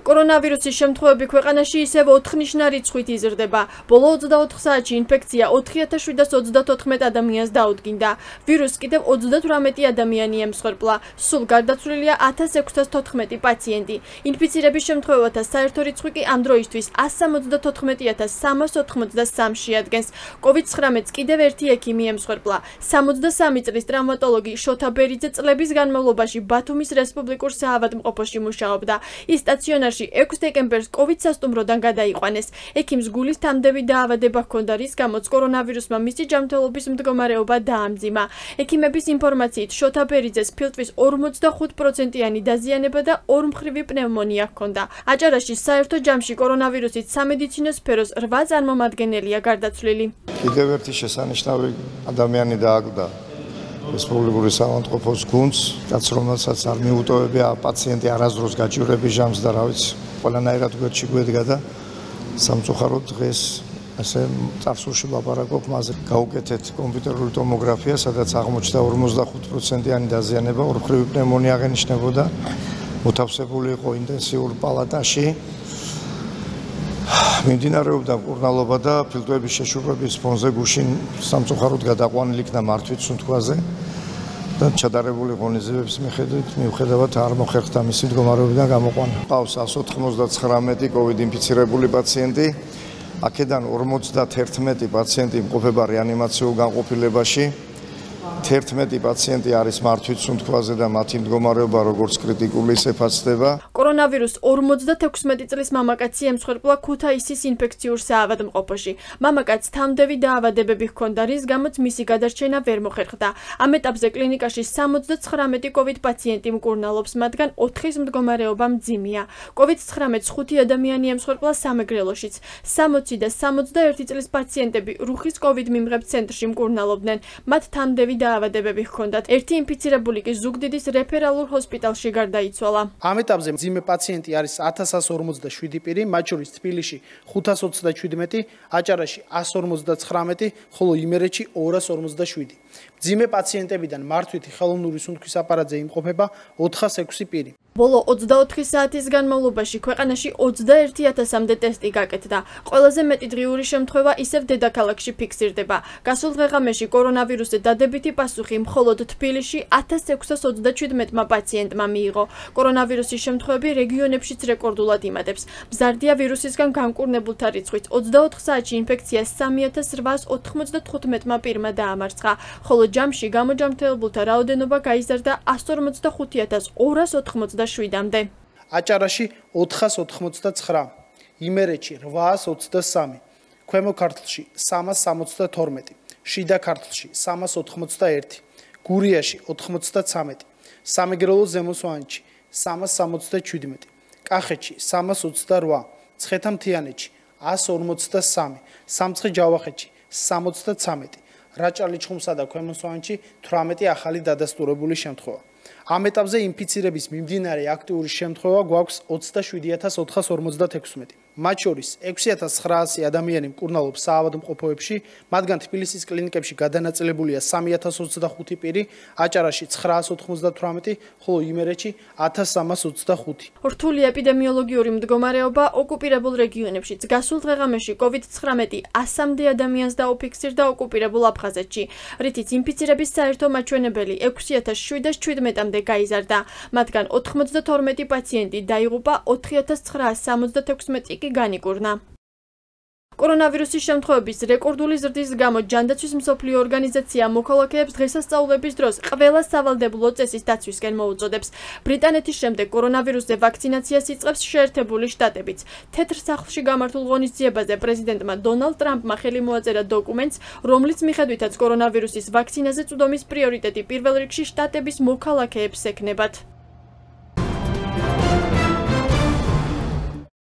კორონავირუსის შემთხვევები ქვეყანაში ისევ 4-ნიშნა რიცხვით იზრდება. ბოლო 24 საათში ინფექცია 4734 ადამიანს დაუდგინდა. ვირუსს კიდევ 38 ადამიანი ემსხვერპლა. სულ გარდაცვლილია 1614 პაციენტი. ინფიცირების შემთხვევათა საერთო რიცხვი კი ამ დროისთვის 174383 შეადგენს. COVID-19-ს კიდევ ერთი ექიმი ემსხვერპლა. 63 წლის ტრაუმატოლოგი შოთა ბერიძე წლების განმავლობაში ბათუმის რესპუბლიკურ საავადმყოფოში მუშაობდა. ის სტაციონარში 6 დეკემბერს COVID სასტუმროდან გადაიყვანეს. ექიმს გულის თამდევი დაავადება ჰქონდა, რის გამოც კორონავირუსმა მისი ჯანმრთელობის მდგომარეობა დაამძიმა. ექიმების ინფორმაციით, შოთა ბერიძეს ფილტვის 45%-იანი დაზიანება და ორმხრივი პნევმონია ჰქონდა. აჭარაში საერთო ჯამში კორონავირუსით სამედიცინო სფეროს 8 წარმომადგენელია გარდაცვლილი. კიდევ ერთი შესანიშნავი ადამიანი დააგდო რესპუბლიკური საავადმყოფოს გუნდს, რაც რომელსაც არ მიუტოვებია პაციენტი არასდროს გაჭირვების ჟამს და რა ვიცი, ყველანაირად გვერდში გვედგა და სამწუხაროდ დღეს ასე წარსულში ვლაპარაკობ მასზე. გავუკეთეთ კომპიუტერული ტომოგრაფია, სადაც აღმოჩნდა 45%-იანი დაზიანება, ორმხრივი პნევმონია აღენიშნებოდა, მოთავსებული იყო ინტენსიურ პალატაში. მიმდინარეობდა მკურნალობა და ფილტვების შეშურვების ფონზე გუშინ სამწუხაროდ გადაყვანილი იქნა მართვით სუნთქვაზე და ჩადარებული ღონისძიებების მიუხედავად არ მოხერხდა მისი მდგომარეობიდან გამოყვანა. ყავს 199 COVID ინფიცირებული პაციენტი, აქედან 51 პაციენტი იმყოფება რეანიმაციულ განყოფილებაში. 11 პაციენტი არის მართვით სუნთქვაზე და მათი მდგომარეობა როგორც კრიტიკული ისე ფასდება. კორონავირუსს 56 წლის მამაკაცი ემსხვერპლა ქუთაისის ინფექციურ საავადმყოფოში. მამაკაცს თამდევი დაავადებები ჰქონდა, რის გამოც მისი გადარჩენა ვერ მოხერხდა. ამ ეტაპზე კლინიკაში 79 COVID პაციენტი მკურნალობს, მათგან 4-ის მდგომარეობა მძიმეა. COVID-19 5 ადამიანი ემსხვერპლა სამეგრელოშიც. 60 და 61 წლის პაციენტები რუხის COVID მიმღებ ცენტრში მკურნალობდნენ. მათ თამდევი დაავადებები ჰქონდათ. ერთი ინფიცირებული კი ზუგდიდის რეფერალურ ჰოსპიტალში გარდაიცვალა. ამ ეტაპზე მძიმე პაციენტი არის 1147 პირი, მათ შორის თბილისში 527, აჭარაში 159, ხოლო იმერეთში 257. მძიმე პაციენტებიდან მართვითი ხელოვნური სუნთქვის აპარატზე იმყოფება 406 პირი. ბოლო 24 საათის განმავლობაში ქვეყანაში 21000-მდე ტესტი გაკეთდა. ყველაზე მეტი დღიური შემთხვევა ისევ დედაქალაქში ფიქსირდება. გასულ დღე-ღამეში კორონავირუსზე დადებითი პასუხი მხოლოდ თბილისში 1627 პაციენტმა მიიღო. კორონავირუსის შემთხვევები რეგიონებშიც რეკორდულად იმატებს. მზარდია ვირუსისგან განკურნებულთა რიცხვით. 24 საათში ინფექცია 3895 პირმა დაამარცხა, ხოლო ჯამში გამოჯანმრთელებულთა რაოდენობა გაიზარდა 154287-მდე. აჭარაში 489, იმერეთში 823, ქვემო ქართლში 362, შიდა ქართლში 381, გურიაში 93, სამეგრელოს ზემო სვანეთში 367, კახეთში 328, ცხეთამთიანეთში 153, სამცხე-ჯავახეთში 73, რაჭა-ლეჩხუმსა და ქვემო სვანეთში 18 ახალი დადასტურებული შემთხვევა. ამ ეტაპზე ინფიცირების მიმდინარე აქტიური შემთხვევა გვაქვს 27456. მათ შორის 6900 ადამიანი მკურნალობს საავადმყოფოებში, მათგან თბილისის კლინიკებში გადანაწილებულია 3025 პირი, აჭარაში 998, ხოლო იმერეთში 1325. რთული ეპიდემიოლოგიური მდგომარეობა ოკუპირებულ რეგიონებშიც. გასულ დღე-ღამეში COVID-19 100-მდე ადამიანს დაუფიქსირდა ოკუპირებულ აფხაზეთში, რითიც ინფიცირების საერთო მაჩვენებელი 6717-მდე გაიზარდა. მათგან 92 პაციენტი დაიღუპა, 4976 კი განიკურნა. კორონავირუსის შემთხვევების რეკორდული ზრდის გამო ჯანდაცვის მსოფლიო ორგანიზაცია მოქალაქეებს დღესასწაულების დროს ყველა სავალდებულო წესის დაცვისკენ მოუწოდებს. ბრიტანეთის შემდეგ კორონავირუსზე ვაქცინაციას იწყებს შეერთებული შტატებიც. თეთრ სახლში გამართულ ღონისძიებაზე პრეზიდენტმა დონალდ ტრამპმა ხელი მოაწერა დოკუმენტს, რომლის მიხედვითაც კორონავირუსის ვაქცინაზე წვდომის პრიორიტეტი პირველ რიგში შტატების მოქალაქეებს ექნებათ.